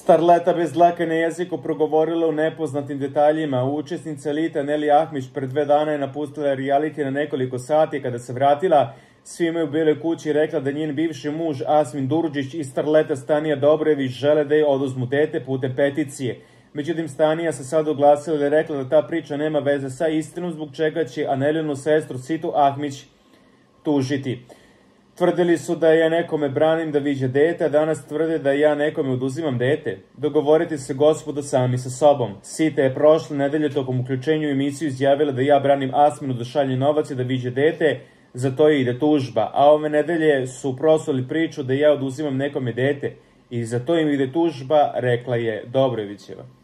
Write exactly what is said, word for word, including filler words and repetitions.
Starleta bez dlake na jeziku progovorila u nepoznatim detaljima. Učesnica elite Neli Ahmić pred dve dana je napustila reality na nekoliko sati. Kada se vratila, svima je u Bijeloj kući rekla da njen bivši muž Asmin Durdžić i starleta Stanija Dobrojević žele da je oduzmu dete putem peticije. Međutim, Stanija se sad oglasila i rekla da ta priča nema veze sa istinom, zbog čega će Anelinu sestru Situ Ahmić tužiti. Tvrdili su da ja nekome branim da viđe dete, a danas tvrde da ja nekome oduzimam dete. Dogovorite se, gospodo, sami sa sobom. Sita je prošle nedelje tokom uključenja u emisiju izjavila da ja branim Asminu da šalje novac i da viđe dete, za to je ide tužba. A ove nedelje su prosuli priču da ja oduzimam nekome dete i za to im ide tužba, rekla je Dobrojevićeva.